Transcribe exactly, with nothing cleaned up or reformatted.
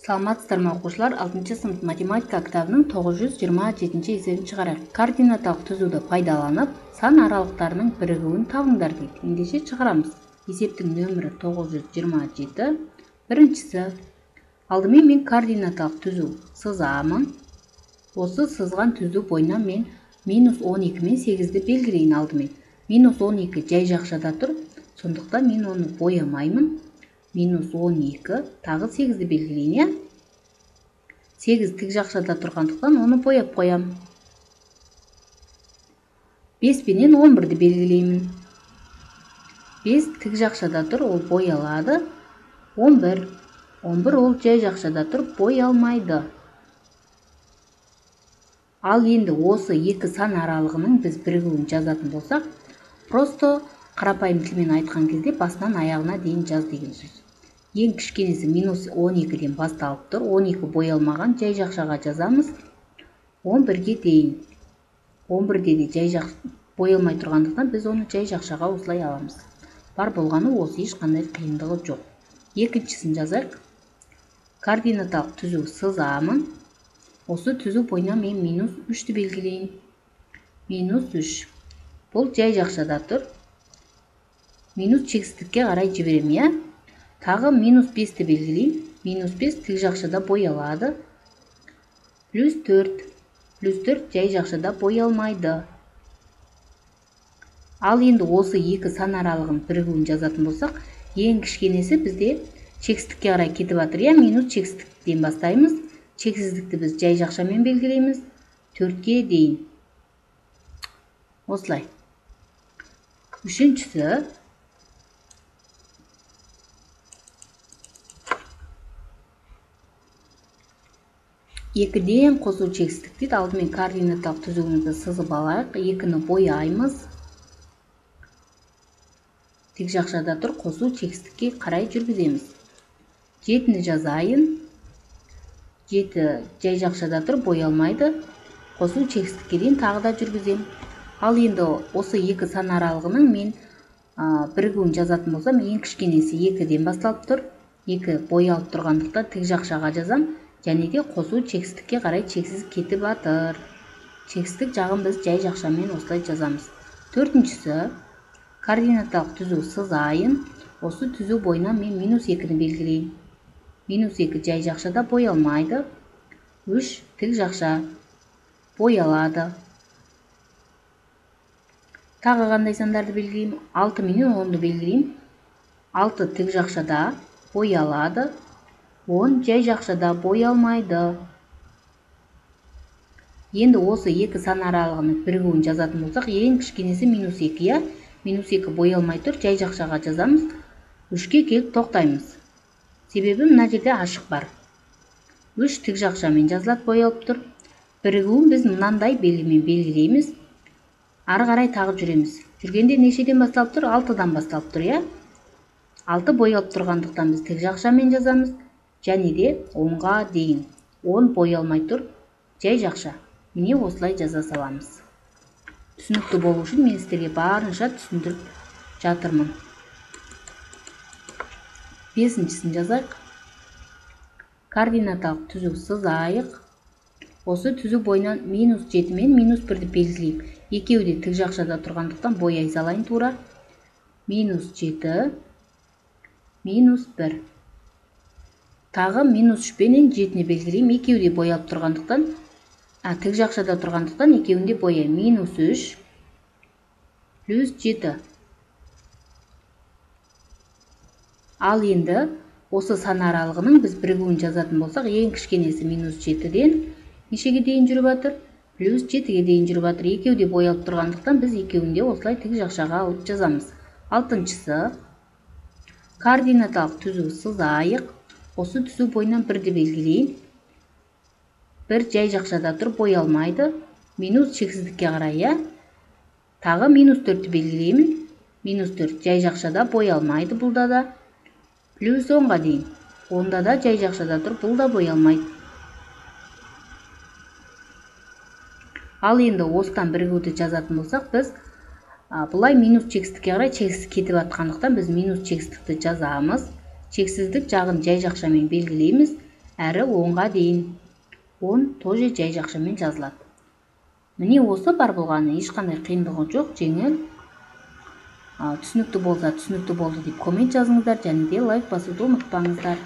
Саламатсыздарбы окуучулар, алтынчы сынып математика китабынын тогуз жүз жыйырма жетинчи эсебин чыгарайык. Координаталык түзүүдө пайдаланып, сан аралыктарынын биригүүн табыңдар дейт. Эндеше чыгарамыз. Эсептин нөмүрү тогуз жүз жыйырма жети. Биринчиси. Алдымен мен координаталык түзүү сызамын. Осы сызган түзүү боюна мен минус он эки мен сегизди белгилейин алдымен. минус он эки жай жакшада тур. Сондуктан мен ону боямаймын. минус он эки, тагы сегизди белгилейин, я? сегиз тик жакшада тургандыктан ону бояп коям. беш менен он бирди белгилеймин. беш тик жакшада тур, ол боялады. он бир. он бир ол жай жакшада тур, боялмайды. Ал энди осы эки сан аралыгынын биз биригүүн жазатын болсак, просто карапайым тил менен айткан кезде басынан аягына дейин жаз деген сөз. Эң кичкенеси минус он экиден башталып тур. он эки боялмаган, жай жакшага жазамыз. он бирге дейин. он бир деди жай жак боялмай тургандыктан биз ону жай жакшага осулай алабыз. Бар болгону осы, эч кандай кыйындыгы жок. Экинчисин жазайык. Координаталык түзүү сызамын. Осы түзүү боюна мен минус үчтү белгилейин. минус үч. Бул жай жакшада тур. Минус чексиздикке карай жиберем, я? Тагы минус бешти белгилейм. минус беш тик жакшада боялады. плюс төрт. плюс төрт жай жакшада боялмайды. Ал энди осы эки сан аралыгын биригүүн жазатын болсак, эң кичкенеси бизде чексиздикке карай кетип атыр, я? Минус чексиздиктен баштайбыз. Чексиздикти биз жай жакша менен белгилейбиз. төрткө дейин. Осулай. Үчүнчүсү. экиден косуу чексиздик дейт. Алдымен координаталык түзүүбүздү сызып алайык. экини бояйбыз. Тик жакшада тур, косуу чексиздикке карай жүргүзөбүз. жетини жазайын. жети жай жакшада тур, боялмайды. Косуу чексиздикке дейин тагы да жүргүзөм. Ал энди осы эки сан аралыгынын мен биригүүн жазатын болсам, эң кичкенеси экиден башталып тур. эки боялып тургандыктан тик жакшага жазам. Және де косуу чексиздикке карай чексиз кетип атыр. Чексиздик жагын биз жай жакша менен осулай жазамыз. Төртүнчүсү. Координаталык түзүү сызайын. Осы түзүү боюна мен минус экини белгилейм. минус эки жай жакшада боялмайды. үч тик жакша боялады. Тагы кандай сандарды белгилейм? алты менен онду белгилейм. алты тик жакшада боялады. он жай жакшада боялмайды. Енді осы эки сан аралыгынын биригүүн жазатын болсак, эң кичкенеси минус эки, я? минус эки боялмай тур, жай жакшага жазамыз. үчкө келип токтойбуз. Себеби мына жерде ашык бар. үч тик жакша менен жазылат, боялып тур. Биригүүн биз мынандай белги менен белгилейбиз. Ары карай тагы жүрөбүз. Жүргөндө нечеден башталып тур? алтыдан башталып тур, я? алты боялып тургандыктан биз тик жакша менен жазамыз. Және де онга дейин. он боялмай тур, жай жакша. Міне осылай жаза саламыз. Түшүнүктүү болуу үчүн мен силерге барынча түшүндүрүп жатырмын. бешинчисин жазайык. Координаталык түзүү сызайык. Осы түзүү боюна минус жети менен минус бирди белгилейм. Экөөү да тик жакшада тургандыктан бояй салайын туура. минус жети, минус бир. Тагы минус үч менен жетини белгилейм. Экөөү да боялып тургандыктан, а тик жакшада тургандыктан экөөүн да бояйм. минус үч плюс жети. Ал энди осы сан аралыгынын биз биригүүн жазатын болсак, эң кичкенеси минус жетиден нечеге дейин жүрүп атыр? плюс жетиге дейин жүрүп атыр. Экөөү да боялып тургандыктан биз экөөүн да осулай тик жакшага алып жазамыз. Алтынчысы. Координаталык түзүү сызайык. Осы түзүү боюна бирди белгилейм. бир жай жакшада тур, боялмайды. Минус чексиздикке карай, я? Тагы минус төрттү белгилеймин. минус төрт жай жакшада боялмайды, булда да. плюс онга дейин. онда да жай жакшада тур, бул да боялмайт. Ал энди осудан биригүүдү жазатын болсак, биз булай минус чексиздикке карай чексиз кетип аткандыктан биз минус чексиздикти жазамыз. Чексиздик жагын жай жакша менен белгилейбиз. әрі онға дейін. он тоже жай жакшы менен жазылат. Міне осы бар болгону, эч кандай кыйындыгы жок, жеңил. Түшүнүктүү болса түшүнүктүү болду деп коммент жазыңыздар, және де лайк басууду унутпаңыздар.